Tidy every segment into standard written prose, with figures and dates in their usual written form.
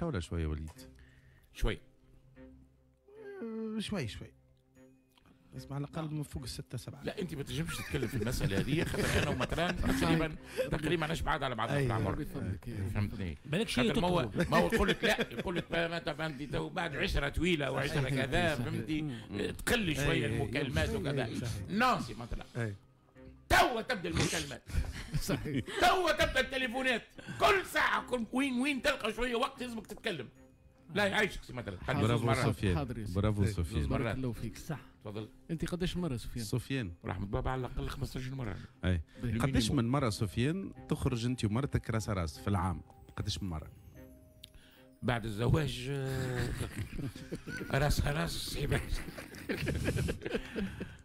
ولا شوية وليد؟ شوي شوي شوي، بس على الاقل من فوق الستة سبعة. لا انت ما تنجمش تتكلم في المسالة هذه، خاطر انا ومطران تقريبا ماناش بعاد على بعضنا في العمر، فهمتني؟ بالك شيء ما هو يقول لك لا، يقول لك ما انت بعد عشرة طويلة وعشرة كذا، فهمتي؟ تقل شوية المكالمات وكذا. نانسي مثلا توا تبدا المكالمات، صحيح، توا تبدا التليفونات كل ساعة، كل وين تلقى شوية وقت لازمك تتكلم. لا يعيشك سي مثلا. برافو سفيان، برافو سفيان، بارك الله فيك. صح، تفضل. انت قداش مرة سفيان؟ سفيان رحمة بابا على الاقل 15 مرة. اي قداش من مرة سفيان تخرج انت ومرتك راس راس في العام؟ قداش من مرة؟ بعد الزواج راس راس صعيبة،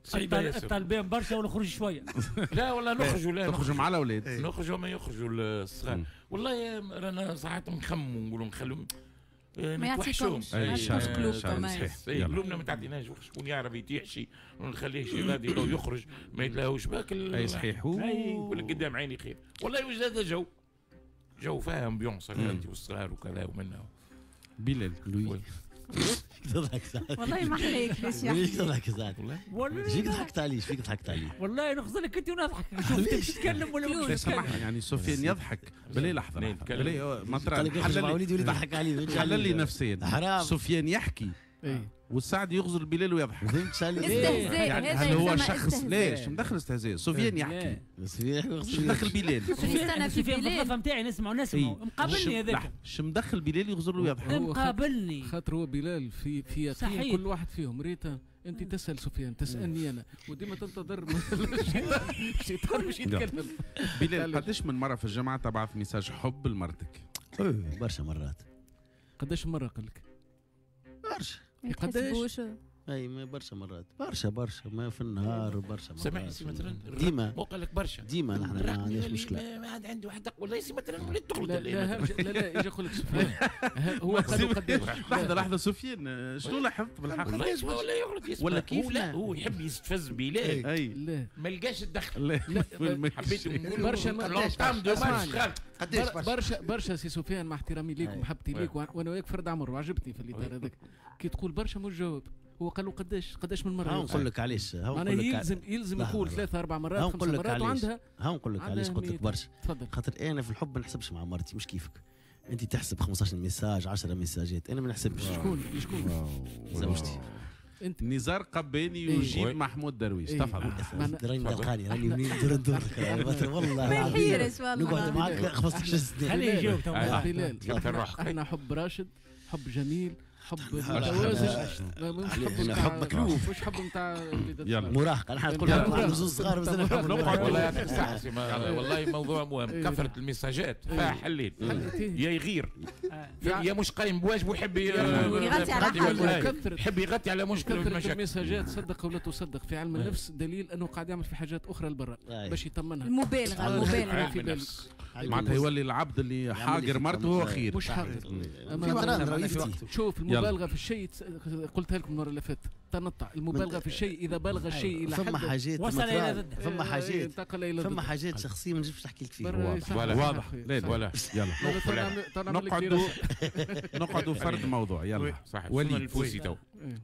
صعيبة ياسر. الطالبين برشا ونخرج شوية. لا والله نخرجوا، لا نخرجوا مع الاولاد، نخرجوا ما يخرجوا الصغار. والله رانا ساعات نخموا نقولوا نخلوا ما يعطيكمش، ما يعطيكمش قلوبكم. قلوبنا ما تعطيناش، شكون يعرف يتيح شي ونخليه شي غادي يخرج ما يتلاهوش باك. اي صحيح، ولا قدام عيني خير. والله وجد هذا جو فيها ambiance انت والصغار وكذا ومنه. بلال لوي تضحك ساعات والله ما عليك باش يحكي. تضحك ساعات والله، فيك ضحكت عليه، فيك ضحكت عليه والله. نخزر لك انت ونضحك، شوف تتكلم ولا ما سامحني. يعني سفيان يضحك بلي لحظة، بلي مطران حلل وليدي وليد ضحك عليه، حلل لي نفسيا. حرام سفيان يحكي والسعد يغزر بلال ويضحك. فهمت علي؟ استهزاء. يعني هل هو شخص ليش مدخل استهزاء؟ سفيان يحكي، شو مدخل بلال؟ سفيان في الغرفة نتاعي نسمع مقابلني هذاك. شو مدخل بلال يغزر له ويضحك؟ مقابلني خاطر هو بلال في يقين كل واحد فيهم. ريتا انت تسال سفيان، تسالني انا، وديما تنتظر الشيطان باش يتكلم. بلال قداش من مرة في الجامعة تبعث message حب لمرتك؟ برشا مرات. قداش مرة قال لك؟ برشا. قداش؟ اي ما برشا مرات، برشا برشا، ما في النهار برشا مرات. سامحني سي مثلا ديما مو قال لك برشا ديما، نحن ما عندناش مشكلة. ما عاد عنده واحد والله سي مثلا وليت تغلط. لا لا لا اجي نقول لك سفيان هو قال قداش. لحظة لحظة سفيان، شنو لاحظت بالحق؟ والله ولا يغلط ولا كيف؟ لا هو يحب يستفز بلال، لا ما لقاش الدخل. لا حبيت نقول برشا قداش برشا برشا سي سفيان، مع احترامي ليك ومحبتي ليك، وانا وياك فرد عمر وعجبتني في الاطار هذاك. كي تقول برشا مش جاوب، هو قال له قداش من مرة. ها نقول لك علاش، معناها يلزم يقول 3 4 مرات 5 مرات وعندها. ها نقول لك علاش قلت لك برشا. تفضل. خاطر انا في الحب ما نحسبش مع مرتي، مش كيفك انت تحسب 15 message 10 ميساجات، انا ما نحسبش. شكون زوجتي. انت نزار قباني يجيب محمود درويش. تفضل. راني دلقاني، راني منين ندور ندور والله ما يحيرش والله. نقعد معاك 15 سنة. خليه يجاوب بلال. احنا حب راشد، حب جميل، حب متوازن، مش حب مكلوف، مش حب نتاع مراهقة. نحن تقول حب زوز صغار مازلنا حب. والله يعطيك الصحة، والله موضوع مهم. كثرة المساجات فحليت يا يغير يا مش قايم بواجبه، يحب يغطي على حاله، يحب يغطي على مشكلة. كثرة المساجات صدق ولا تصدق في علم النفس دليل انه قاعد يعمل في حاجات اخرى لبرا باش يطمنها. المبالغة، المبالغة معناتها يولي العبد اللي حاقر مرته هو خير. مش حاقر، شوف المبالغة في الشيء، قلتها لكم المرة اللي فاتت، تنطع المبالغة في الشيء اذا بالغ الشيء الى حد. فما حاجات وصل الى ضده، فما حاجات، فما حاجات شخصية ما نجمش نحكي لك فيها. واضح. لا يلا نقعدوا فرد موضوع. يلا صحيح. وليد الفوسي تو.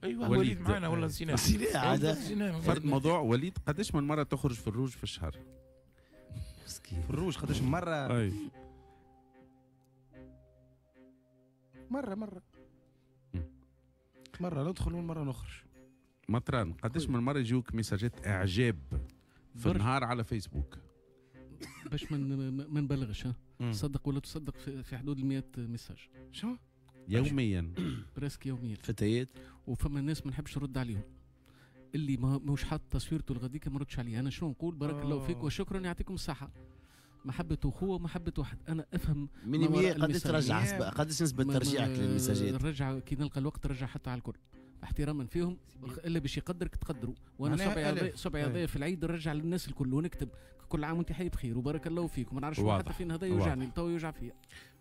ايوه وليد معنا والله نسيناه. فرد موضوع. وليد قداش من مرة تخرج في الروج في الشهر؟ في الروج قداش من مرة؟ اي مرة مرة مرة ندخل ومرة نخرج. مطران قداش من مرة يجوك ميساجات اعجاب في النهار على فيسبوك؟ باش ما نبلغش، صدق ولا تصدق في حدود 100 message. شو؟ يوميا presque يوميا. فتيات. وفما ناس ما نحبش نرد عليهم، اللي ماهوش حاط تصويرته الغديكه ما ردش عليه. انا شنو نقول؟ بارك الله فيك وشكرا يعطيكم الصحة. محبة اخوه ومحبة واحد. انا افهم من قداش ترجع، قداش نسبة ترجيعك للمساجات؟ نرجع كي نلقى الوقت نرجع حتى على الكل احتراما فيهم، الا باش يقدرك تقدروا. وانا صبعي هذايا في العيد نرجع للناس الكل ونكتب كل عام وانت حي بخير وبارك الله فيك وما نعرفش حتى فين هذا يوجعني تو يوجع فيا.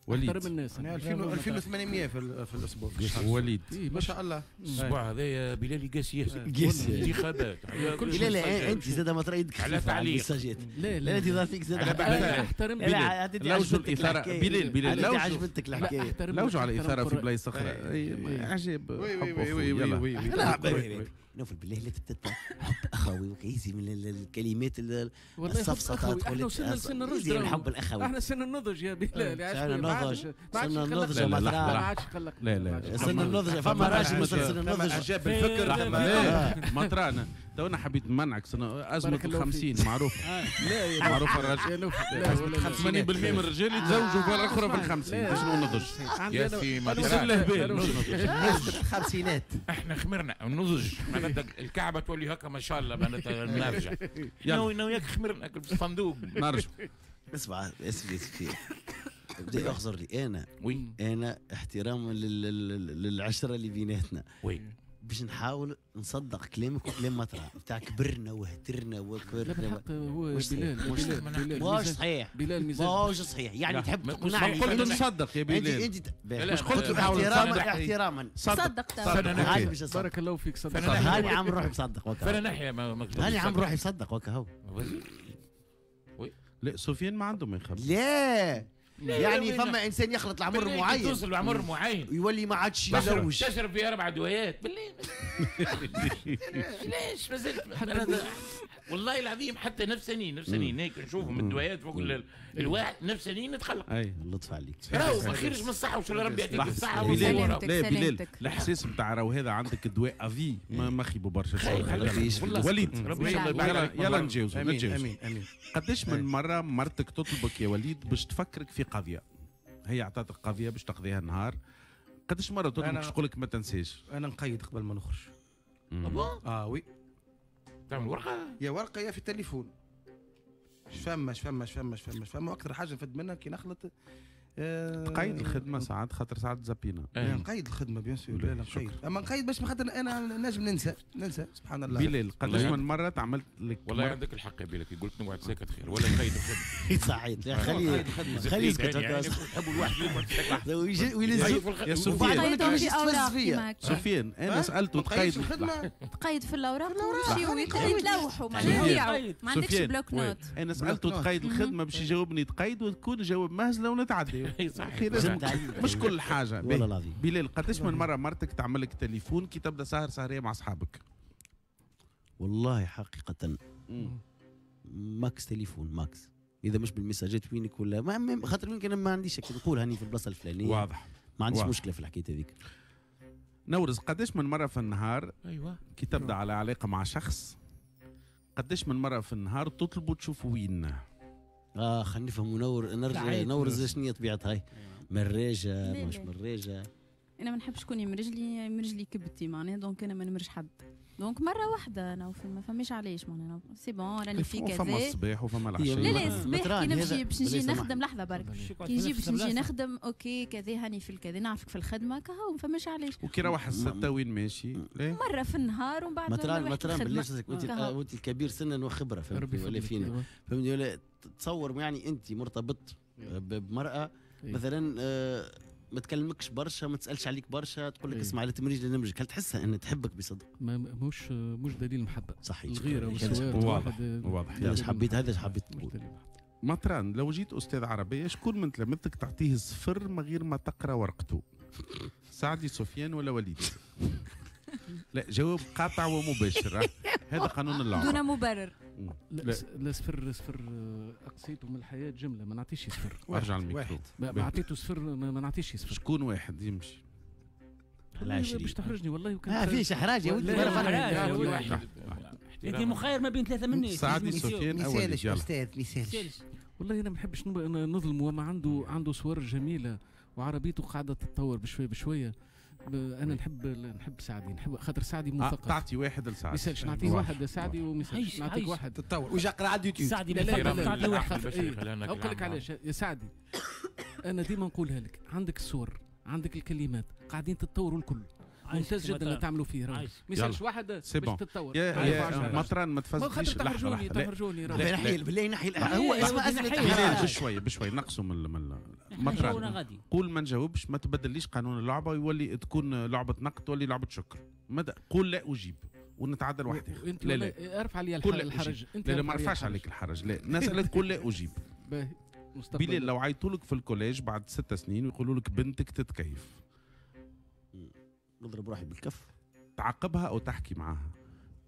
وليد احترم الناس. انا 2800 في الاسبوع. وليد ما شاء الله. الاسبوع هذايا بلال قاسي ياسر. انتخابات. لا لا انت زاد ما ترى يدك على تعليق. لا لا انت ظهر فيك زاد. احترم بلال. لوجوا الاثارة بلال بلال لو عجبتك الحكاية. لوجوا على الاثارة في بلايص اخرى. عجب. oui oui oui. نوفل بالله لا تبدا حب اخوي وكيزي من الكلمات السفسطات. احنا وصلنا لسن الرشد. الحب الاخوي. احنا سن النضج يا بلال. سن النضج. سن النضج ما عادش قلق. لا لا سن النضج فما راجل مثلا سن النضج عجاب الفكر. مطرانه تو انا حبيت نمنعك ازمة ال50 معروفة. لا معروفة الراجل 80% من الرجال يتزوجوا في الاخرى في ال50 باش نضج. يا سي الخمسينات احنا خمرنا النضج معناتها الكعبة تولي هكا ما شاء الله معناتها نرجع. انا وياك خمرنا في الصندوق. نرجع. اسمع اسمع بدي اخزر لي انا. oui انا احتراما للعشرة اللي بيناتنا. oui باش نحاول نصدق كلامك وكلام مطرح بتاع كبرنا وهترنا وكبرنا. بالحق هو بلال ماهوش صحيح. بلال مزاج ماهوش صحيح. يعني تحب تقنعني. قلت نصدق يا بلال. انت مش قلت احتراما احتراما. صدق. بارك الله فيك. صدق. هاني عم روحي مصدق وكا. فانا ناحية هاني عم روحي مصدق وكا هو. لا سفيان ما عنده ما يخبي. لا يعني فما انسان يخلط العمر معين، توصل لعمر معين يولي ما عادش يزوج. تشرب في 4 دوايات بالله. ليش مازلت والله العظيم حتى نفساني هيك نشوفهم الدوايات فوق الواحد نفساني نتخلق. اي اللطف عليك. راهو ما خيرش من الصحة وش ربي يعطيك الصحة. لا بلال الاحساس نتاع راهو هذا عندك دواء افي ما خيبوا برشا. وليد يلا نتجاوزوا نتجاوزوا. قداش من مرة مرتك تطلبك يا وليد باش تفكرك في قضية، هي عطاتك قضية باش تقضيها النهار، قداش مرة تطلبك باش تقول لك ما تنساش؟ انا نقيد قبل ما نخرج. Oui تعمل ورقة؟ يا ورقة يا في التليفون. فما فما فما فما فما واكثر حاجة نفد منها كي نخلط تقيد الخدمة ساعات خاطر ساعات زابينا. نقيد الخدمة bien sûr. لا نقيد، اما نقيد باش خاطر انا نجم ننسى سبحان الله. بلال قداش من مرة تعملت لك؟ والله عندك الحق يا بلال، كي قلت نقعد ساكت خير ولا نقيد الخدمة. صحيح خليه خليه يسكت. يعني تحبوا الواحد يقعد ساكت. يا سفيان سفيان انا سالته تقيد الخدمة، تقيد في الاوراق ويمشيو يتلوحوا ما عندكش bloc-notes. انا سالته تقيد الخدمة باش يجاوبني تقيد وتكون جواب مهزله ونتعدي. مش كل حاجة. والله العظيم. بلال قداش من مرة مرتك تعمل لك تليفون كي تبدا سهر سهريه مع اصحابك؟ والله حقيقة max تليفون max، اذا مش بالمساجات وينك ولا ما خاطر وينك انا ما عنديش نقول هاني في البلاصة الفلانية. واضح ما عنديش مشكلة في الحكاية هذيك. نورز قداش من مرة في النهار ايوه كي تبدا على علاقة مع شخص قداش من مرة في النهار تطلبوا تشوفوا وين؟ خلينا نفهموا نور نورز شنو هي طبيعتها؟ هاي مراجه مش مراجه؟ انا ما نحبش شكون يمرج لي، يمرج لي كبتي معناها، donc انا ما نمرج حد، donc مرة واحدة انا ما فماش علاش معناها c'est bon راني في كذا. فما الصباح وفما العشية. لا لا الصباح كي نمشي باش نجي نخدم لحظة برك، كي نجي باش نجي نخدم OK كذا هاني في الكذا نعرفك في الخدمة كهو ما فماش علاش. وكي روح الستة وين ماشي؟ مرة في النهار ومن بعد مطران بالله انت الكبير سنا وخبره فهمتني ولا فينا فهمتني ولا تصور يعني انت مرتبط بمراة مثلا ما تكلمكش برشا، ما تسالش عليك برشا، تقول لك اسمع لا تمريج لا نمرجك، هل تحسها ان تحبك بصدق؟ ما مش دليل محبة. صحيح الغيرة والسواد. واضح واضح. هذا حبيت هذا حبيت تقول. مطران لو جيت استاذ عربية شكون من تلامذتك تعطيه صفر من غير ما تقرا ورقته؟ سعدي سفيان ولا وليد؟ لا جواب قاطع ومباشر، هذا قانون اللعبة دون مبرر. لا صفر صفر اقصيته من الحياة جملة، ما نعطيش صفر. ارجع الميكرو. ما عطيته صفر ما نعطيش صفر. شكون واحد يمشي؟ باش تحرجني والله. وكان ما فيش احراج يا ولدي. انت مخير ما بين ثلاثة مني. سعدي سفيان او وليد. ما استاذ ما يسالش. والله انا ما نحبش نظلم، وما عنده صور جميلة وعربيته قاعدة تتطور بشوية بشوية. انا نحب سعدي، نحب خاطر سعدي مثقف. تعطي واحد لسعدي. ما يسالش نعطيه واحد لسعدي وما يسالش نعطيك واحد. تتطور ويجي يقرا على اليوتيوب. سعدي لا واحد. نقول لك علاش يا سعدي، انا ديما نقولها لك، عندك الصور عندك الكلمات قاعدين تتطوروا الكل. ممتاز جدا اللي تعملوا فيه. ما يسالش واحد باش تتطور. يا مطران ما تفزليش. لحظة تحرجوني بالله نحي هو اسمه اسئلة بشوية بشوية نقصوا من مطران. قول ما نجاوبش، ما تبدليش قانون اللعبة ويولي تكون لعبه نقد تولي لعبه شكر. قول لا اجيب ونتعدل واحد. لا لا ارفع لي الحرج. انت لا ما رفعش عليك الحرج. لا نسالك قول لا اجيب. بلال لو عيطوا لك في ال collège بعد 6 سنين ويقولوا لك بنتك تتكيف، نضرب روحي بالكف. تعاقبها او تحكي معاها؟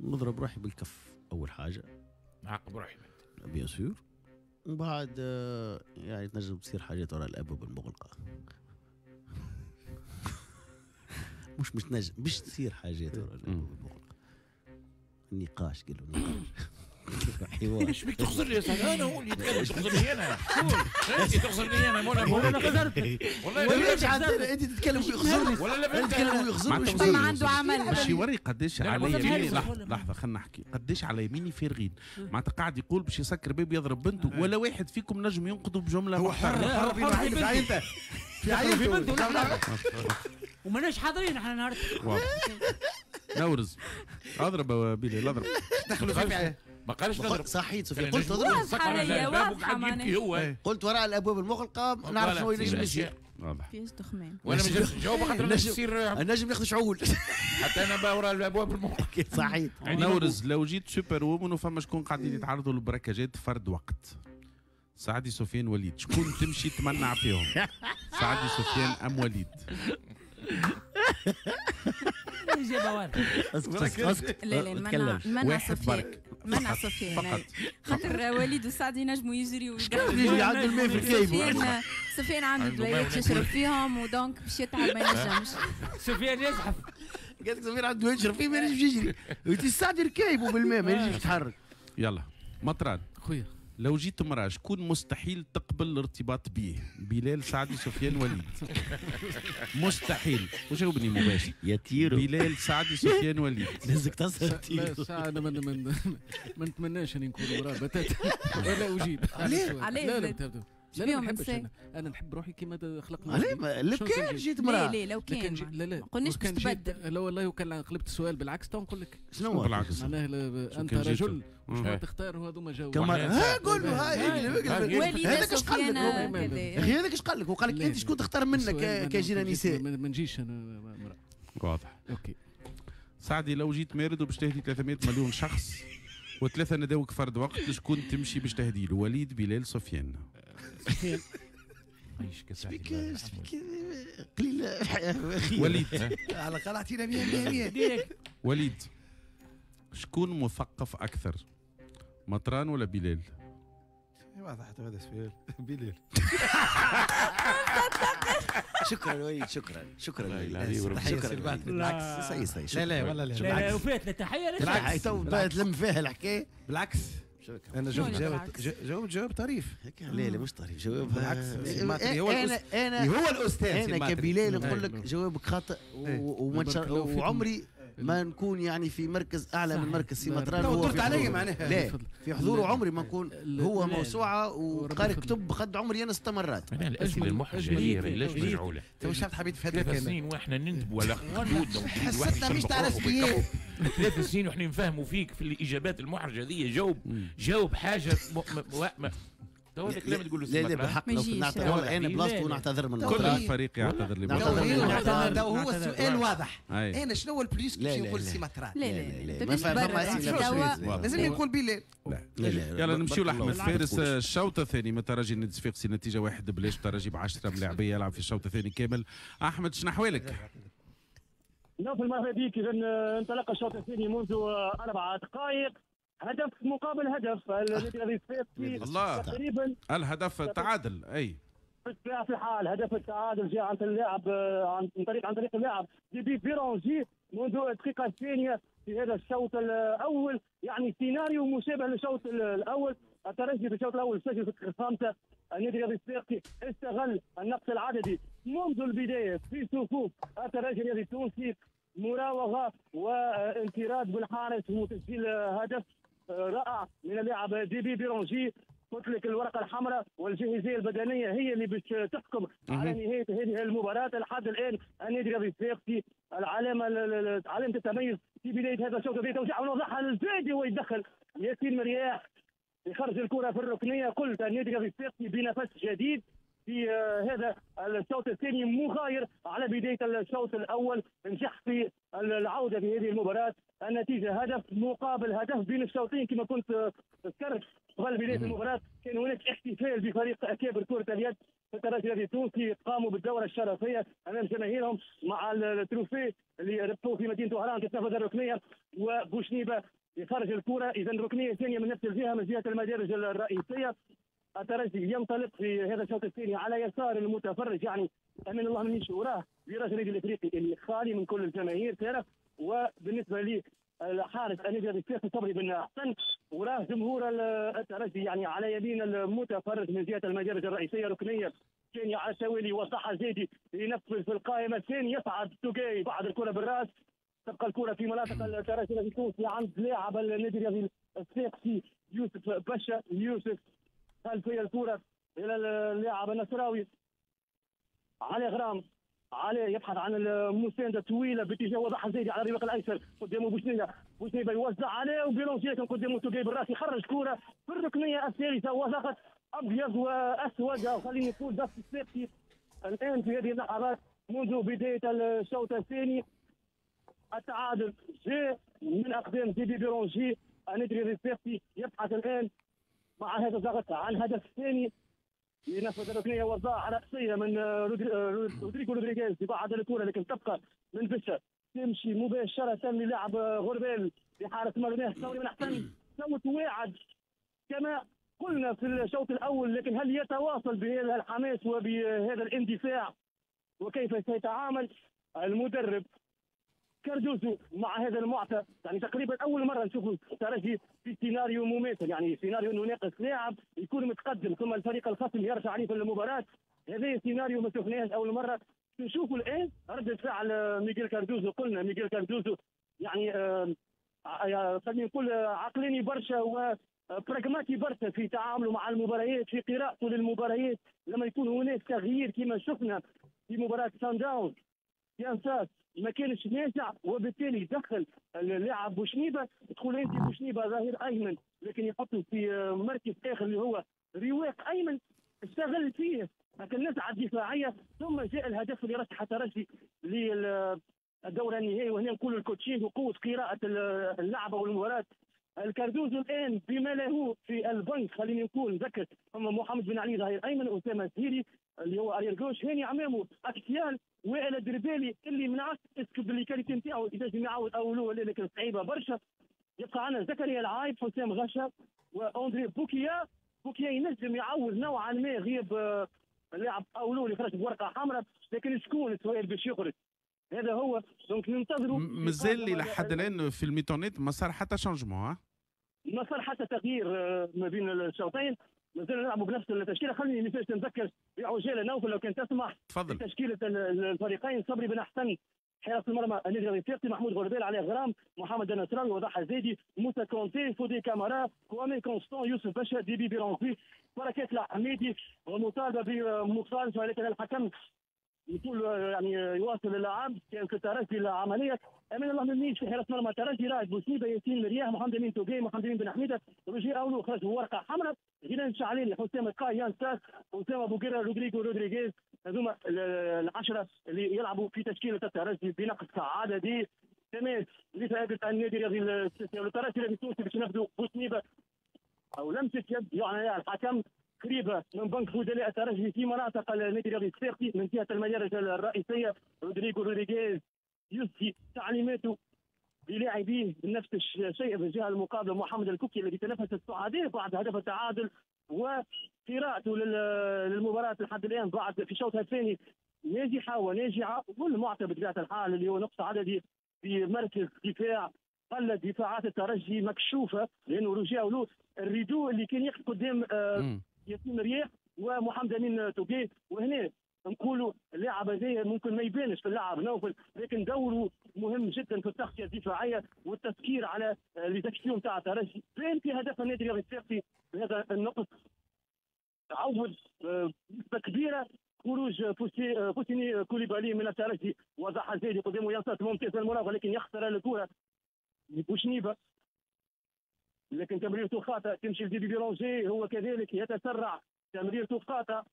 نضرب روحي بالكف اول حاجة. نعاقب روحي bien sûr، ومن بعد يعني تنجم تصير حاجات وراء الابواب المغلقة. مش تنجم باش تصير حاجات وراء الابواب المغلقة. النقاش قالوا نقاش حوار. ايش بيك تخزر لي يا سعد؟ انا هو اللي يتكلم تخزر لي انا. انت تخزر لي انا والله خزرت. والله انت تتكلم ويخزرني. ولا لا تتكلم ويخزرني. ما عنده عمل. باش يوري قداش على يميني. لحظة لحظة خلينا نحكي قداش على يميني فارغين. معناتها قاعد يقول باش يسكر باب يضرب بنته، ولا واحد فيكم نجم ينقذه بجملة. هو حر في عائلته في عائلته وماناش حاضرين احنا النهارده. نورز اضرب يا بلال اضرب. دخلوا في ما قالش نضرب. صحيت سفيان قلت اضرب. قلت وراء الابواب المغلقة نعرف شنو ينجم يصير. واضح فيش دخمان. وانا ما نجمش نجاوب خاطر يصير نجم ناخذ شعول. حتى انا وراء الابواب المغلقة. صحيت. نورز لو جيت super woman وفما شكون قاعدين يتعرضوا للبركاجات فرد وقت، سعدي سفيان وليد، شكون تمشي تمنع فيهم؟ سعدي سفيان ام وليد؟ الإجابة واضحة. لا لا منع سفيان، منع سفيان خاطر وليد وسعدي ينجموا يجريوا يجري عنده الماء في الكيب. سفيان عنده دوايات يشرب فيهم و donc باش يتعب ما ينجمش. سفيان يزحف. قالت لك سفيان عنده دوايات يشرب فيه ما ينجمش يجري. سعدي ركايبه بالماء ما ينجمش يتحرك. يلا مطران خويا، لو جيت امرأة شكون مستحيل تقبل الارتباط به؟ بلال سعدي سفيان وليد. مستحيل. وجاوبني مباشر. يا تيرو. بلال سعدي سفيان وليد. لازمك تصل تيرو. لا انا ما نتمناش اني نكون امرأة بتاتا. ولا اجيب. علاش؟ لا لا لا ما نحبش انا نحب روحي كيما خلقنا. علاه لو كان جيت امرأة. لا لو كان لا لا ما قلناش باش تبدل. لا والله وكان قلبت السؤال بالعكس تو نقول لك شنو هو بالعكس؟ معناه انت رجل شنو تختار وهذوما جاوبوا. ها قول له هاي هذاك اش قال لك؟ هذاك اش قال لك؟ وقال لك انت شكون تختار منك كجيرة نساء؟ ما نجيش انا امرأة. واضح. OK سعدي لو جيت مارد وباش تهدي 300 مليون شخص وثلاثة نداوك فرد وقت، شكون تمشي باش تهدي له؟ وليد بلال سفيان. شبيك شبيك قليل وليد على الاقل اعطينا 100 100. وليد شكون مثقف اكثر، مطران ولا بلال؟ واضح حتى هذا السؤال. بلال. شكرا وليد، شكرا شكرا وليد، شكرا. بالعكس صحيح صحيح. لا لا والله لا لا وفات التحية. بالعكس تو تلم فيها الحكاية. بالعكس انا جاوبت جواب طريف. لا لا مش طريف جواب. بالعكس هو انا هو الاستاذ. انا كبلال نقول لك جوابك خاطئ وعمري ما نكون يعني في مركز اعلى من مركز سي مطران. هو درت علي معناها. لا في حضوره عمري ما نكون. هو موسوعة وقارئ كتب قد عمري انا 6 مرات. انا الاسئلة المحرجة هي علاش مجعوله؟ تو شفت حبيت في هذا 3 سنين واحنا نندبوا على خدودنا حسيتنا مش تاع رسميات. 3 سنين واحنا نفهموا فيك في الاجابات المحرجة هذه. جاوب جاوب حاجة تو هذا الكلام تقول له. لا لا بالحق لو نعتذر انا بلاصته نعتذر من كل الفريق يعتذر لي. هو السؤال واضح. انا شنو هو ال plus باش نقول سي مطران؟ لا لا لا لازم نقول بلال. يلا نمشيو لاحمد فارس. الشوط الثاني من ترجي النادي الصفاقسي نتيجة 1-0، ترجي ب10 ملاعبيه يلعب في الشوط الثاني كامل. احمد شنو احوالك؟ نوفل مرحبا بك. اذا انطلق الشوط الثاني منذ 4 دقائق، هدف مقابل هدف. النادي الصفاقسي الله تقريبا الهدف التعادل. اي في الحال هدف التعادل جاء عن اللاعب عن طريق اللاعب ديبي بيرونجي منذ الدقيقة الثانية في هذا الشوط الاول. يعني سيناريو مشابه للشوط الاول. الترجي في الشوط الاول سجل في الدقيقة الخامسة. النادي الصفاقسي استغل النقص العددي منذ البداية في صفوف الترجي الرياضي التونسي، مراوغه وانفراد بالحارس وتسجيل هدف رائع من اللاعب ديبي بيرونجي. قلت لك الورقة الحمراء والجاهزيه البدنية هي اللي باش تحكم على نهاية هذه المباراة. لحد الان النادي الرياضي الصفاقسي العلامة علامة التميز في بداية هذا الشوط. في توزيع ونوضعها للزايدي ويدخل ياسين مرياح يخرج الكره في الركنيه. قلت النادي الرياضي الصفاقسي بنفس جديد في هذا الشوط الثاني، مغاير على بداية الشوط الاول، نجح في العودة في هذه المباراة. النتيجة هدف مقابل هدف بين الشوطين. كما كنت ذكرت قبل بداية المباراة كان هناك احتفال بفريق اكابر كره اليد في الترجي الرياضي التونسي، قاموا بالدوره الشرفيه امام جماهيرهم مع ال trophée اللي ربحوه في مدينة وهران. تتنفذ الركنيه وبوشنيبه يخرج الكره. اذا ركنيه ثانية من نفس الجهة، من جهة المدارج الرئيسية. الترجي ينطلق في هذا الشوط الثاني على يسار المتفرج، يعني امين الله منيش وراه virage النادي الافريقي اللي خالي من كل الجماهير ترى. وبالنسبة لي الحارس النادي الصفاقسي صبري بن حسن وراه جمهور الترجي، يعني على يمين المتفرج من جهة المدارج الرئيسية. ركنيه ثانية على التوالي وصحة زيدي ينفذ في القائمة الثانية، يصعد توجاي بعد الكره بالراس، تبقى الكره في مناطق الترجي التونسي عند لاعب النادي الرياضي الصفاقسي يوسف باشا. يوسف خلفية الكره الى اللاعب النصراوي علي غرام، علي يبحث عن المساندة طويلة باتجاه وضح الزايدي على الرواق الايسر، قدامه بوشنيبه، بوشنيبه يوزع عليه وبيلونجي لكن قدامه توجاي بالراس يخرج كره في الركنيه الثالثة وضغط ابيض واسود، خليني نقول ضغط الصفاقسي الان في هذه اللحظات منذ بداية الشوط الثاني. التعادل جاء من اقدام ديدي بيرونجي. النادي الصفاقسي يبحث الان مع هذا الضغط عن هدف ثاني. ينفذ الركنيه وضاع راسية من رودريغو رودريغيز بعد الكره، لكن تبقى من بشا تمشي مباشرة للاعب غربال لحارس مرماه صوري من احسن. صوت واعد كما قلنا في الشوط الاول، لكن هل يتواصل بهذا الحماس وبهذا الاندفاع؟ وكيف سيتعامل المدرب كاردوزو مع هذا المعطى؟ يعني تقريبا اول مرة نشوف الترجي في سيناريو مماثل، يعني سيناريو انه ناقص لاعب يكون متقدم ثم الفريق الخصم يرجع عليه في المباراة. هذا سيناريو ما شفناهش اول مرة. نشوفوا الان رده فعل ميغيل كاردوزو. قلنا ميغيل كاردوزو يعني خلينا نقول عقلاني برشا وبراغماتي برشا في تعامله مع المباريات، في قراءته للمباريات. لما يكون هناك تغيير كما شفنا في مباراة سان داونز، يانساس ما كانش ناجع وبالتالي دخل اللاعب بوشنيبه. تقول انت بوشنيبه ظهير ايمن، لكن يحطه في مركز اخر اللي هو رواق ايمن، استغل فيه النزعة الدفاعية، ثم جاء الهدف اللي رشح الترجي للدور النهائي. وهنا نقول ال coaching وقوه قراءة اللعبة والمباراة. الكاردوزو الان بما له في البنك، خليني نقول نذكر ثم محمد بن علي ظهير ايمن، اسامة الزيري اللي هو arrière gauche، هاني عمامو axial، وائل الدربالي اللي من عكس est-ce que بال les qualités نتاعو ينجم يعاود اولو، لكن صعيبة برشا. يبقى عندنا زكريا العايب، حسام غشا، واندري بوكيا. بوكيا ينجم يعوض نوعا ما غياب اللاعب اولو اللي خرج بورقه حمراء، لكن شكون السؤال باش يخرج؟ هذا هو. donc ننتظروا. مازال لحد الان في ال mi-temps ما صار حتى changement، ما صار حتى تغيير ما بين الشوطين، مازلنا نلعبوا بنفس التشكيلة. خليني مثال نذكر بعجاله نوفل لو كان تسمح. تفضل. تشكيله الفريقين: صبري بن حسن حارس المرمى النادي الافريقي، محمود غربال، علي غرام، محمد النصراوي، وضح الزيدي، موسى كونتي، فودي كامارا، كوامي كونستون، يوسف باشا، ديبي بيرونكي، بركات الحميدي، ومطالبه بمخالفة ولكن الحكم يقول يعني يواصل اللعب. كان في الترجي العملية امين الله مميش في حراسة مرمى الترجي، رائد بوسنيبه، ياسين مرياح، محمد امين توقي، محمد امين بن حميده، روجي اولو خرج ورقة حمراء، غيلان شعليلي، حسام القاي، يان ساس، اسامة بوغيرا، رودريغو رودريغيز. هذوما العشرة اللي يلعبوا في تشكيله الترجي بنقص عددي. تماس لفائدة النادي الرياضي الترجي الرياضي التونسي باش ينفذوا بوسنيبه او لمسه يد يعني الحكم قريبه من بنك بدلاء الترجي في مناطق النادي الرياضي الصفاقسي من جهة المدارج الرئيسية. رودريغو رودريغيز يسدي تعليماته للاعبيه بنفس الشيء في الجهة المقابلة محمد الكوكي الذي تنفس السعداء بعد هدف التعادل، وقراءته للمباراة لحد الان بعد في شوطها الثاني ناجحة وناجعه، والمعطى بطبيعة الحال اللي هو نقص عددي في مركز دفاع قلت دفاعات الترجي مكشوفة، لانه رجعوا له ال rideau اللي كان يقف قدام ياسين مرياح ومحمد امين توقي. وهنا نقولوا اللاعب هذا ممكن ما يبانش في اللعب نوفل، لكن دوره مهم جدا في التغطية الدفاعية والتفكير على les actions تاع الترجي. بان في هدف النادي الرياضي الصفاقسي بهذا النقص، عوض نسبه كبيرة خروج فوسيني كوليبالي من الترجي. وضح الزايدي قدامه ينصت ممتاز المراوغه لكن يخسر الكره بوشنيبه، لكن تمريرته خاطئه تمشي لديدي بيرونجي، هو كذلك يتسرع تمريرته خاطئه.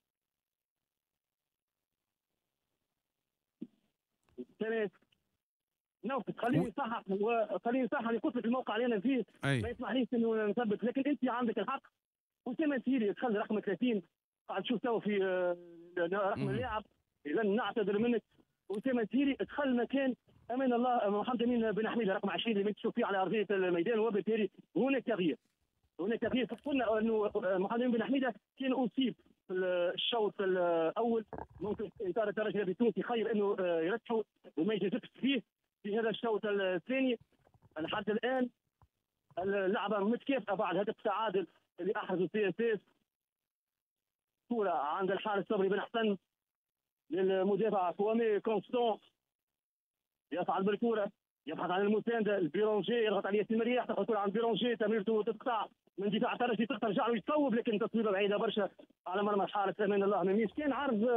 نوفل خليني نصحح وخليني نصحح اللي قلت لك الموقع اللي انا فيه ما يسمحليش انه نثبت، لكن انت عندك الحق. اسامة سيري دخل رقم 30 قاعد تشوف تو في رقم اللاعب، اذا نعتذر منك. اسامة سيري دخل مكان امان الله محمد امين بن حميده رقم 20 اللي تشوف فيه على ارضية الميدان، وبالتالي هناك تغيير. هناك تغيير. قلنا انه محمد امين بن حميده كان اصيب في الشوط الاول، ممكن اطار الترجي التونسي خير انه يرتحوا وما يجازفش فيه في هذا الشوط الثاني. لحد الان اللعبة متكافئة بعد هدف التعادل اللي احرزه CSS. كره عند الحارس صبري بن حسن للمدافع كوامي كونستون، يصعد بالكرة يبحث عن المساندة، البيرونجي يضغط على ياسين مرياح، تاخذ الكره عند بيرونجي، تمريرته تقطع من دفاع الترجي، ترجع له يصوب لكن تصويبه بعيدة برشا على مرمى الحارس امان الله مميش. كان عرض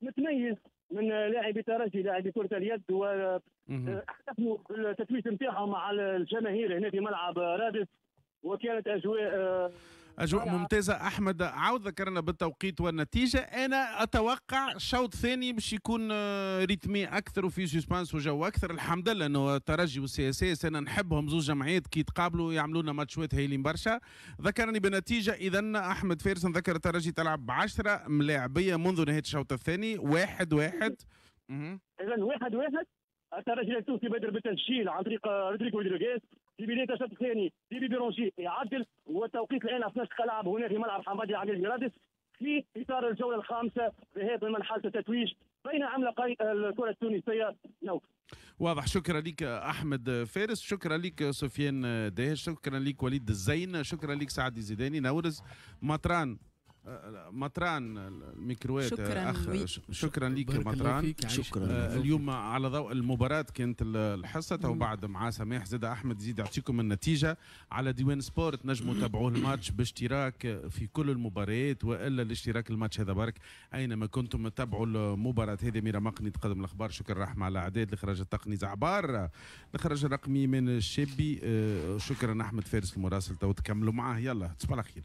متميز من لاعبي الترجي لاعبي كرة اليد، واحتفلوا بالتتويج نتاعهم مع الجماهير هنا في ملعب رادس، وكانت اجواء ممتازة. احمد عاود ذكرنا بالتوقيت والنتيجة. انا اتوقع شوط ثاني باش يكون rythmé اكثر وفي suspense وجو اكثر. الحمد لله انه الترجي وال CSS انا نحبهم زوج جمعيات كي يتقابلوا يعملوا لنا ماتشات هايلين برشا. ذكرني بالنتيجة اذا احمد فارس، نذكر الترجي تلعب ب10 ملاعبيه منذ نهاية الشوط الثاني 1-1. اذا 1-1. الترجي التونسي بادر بالتسجيل عن طريق رودريغو رودريغيز في بداية الشوط الثاني. ديبي بيرونجي يعدل، والتوقيت الان 12 دقيقة لعب هنا في ملعب حمادي العمير رادس في اطار الجولة الخامسة ذهاب من مرحلة التتويج بين عملاقي الكره التونسية. نوف واضح. شكرا لك احمد فارس، شكرا لك سفيان داهش، شكرا لك وليد الزين، شكرا لك سعد الزيداني، نورز مطران الميكروات. شكرا أخ شكرا لك مطران. شكرا. اليوم على ضوء المباراة كانت الحصة تو بعد مع سماح زاد أحمد زيد يعطيكم النتيجة على ديوان سبورت. نجموا تابعوه الماتش باشتراك في كل المباريات والا الاشتراك الماتش هذا برك اينما كنتم تتابعوا المباراة هذه. ميرا مقني تقدم الاخبار. شكرا رحمة على اعداد الاخراج التقني زعبار، الاخراج الرقمي من الشابي. شكرا احمد فارس المراسل، تو تكملوا معاه. يلا تصبح على خير.